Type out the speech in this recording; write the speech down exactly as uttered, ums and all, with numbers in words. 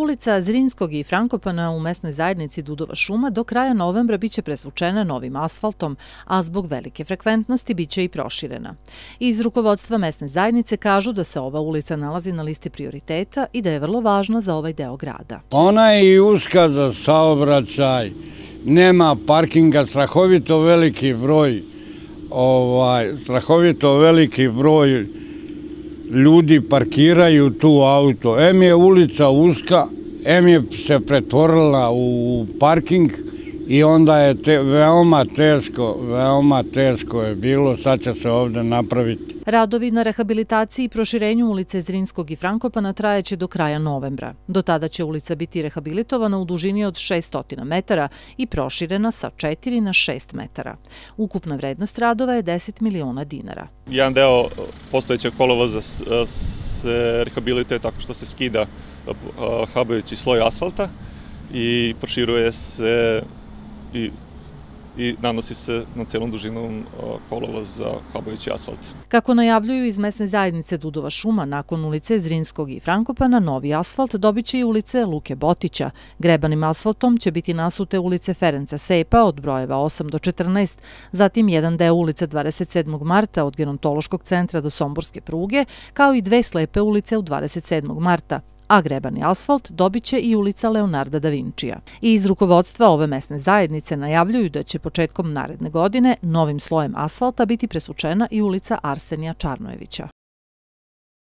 Ulica Zrinskog i Frankopana u mesnoj zajednici Dudova šuma do kraja novembra biće presvučena novim asfaltom, a zbog velike frekventnosti biće i proširena. Iz rukovodstva mesne zajednice kažu da se ova ulica nalazi na listi prioriteta i da je vrlo važna za ovaj deo grada. Ona je i uska za saobraćaj, nema parkinga, strahovito veliki broj, ovaj, strahovito veliki broj ljudi parkiraju tu auto. Em je ulica uska, em je se pretvorila u parking i onda je te, veoma teško, veoma teško je bilo, sad će se ovde napraviti. Radovi na rehabilitaciji i proširenju ulice Zrinskog i Frankopana trajeće do kraja novembra. Do tada će ulica biti rehabilitovana u dužini od šessto metara i proširena sa četiri na šest metara. Ukupna vrednost radova je deset miliona dinara. Jedan deo postojećeg kolovoza se rehabilituje tako što se skida habajući sloj asfalta i proširuje se i i nanosi se na celom dužinom kolovoz za habajući asfalt. Kako najavljuju iz mesne zajednice Dudova šuma, nakon ulice Zrinskog i Frankopana, novi asfalt dobit će i ulice Luke Botića. Grebanim asfaltom će biti nasute ulice Ferenca Sepa od brojeva osam do četrnaest, zatim jedan deo ulice dvadeset sedmog marta od gerontološkog centra do Somborske pruge, kao i dve slepe ulice u dvadeset sedmog marta. A grebani asfalt dobit će i ulica Leonarda da Vinčija. I iz rukovodstva ove mesne zajednice najavljuju da će početkom naredne godine novim slojem asfalta biti presvučena i ulica Arsenija Čarnojevića.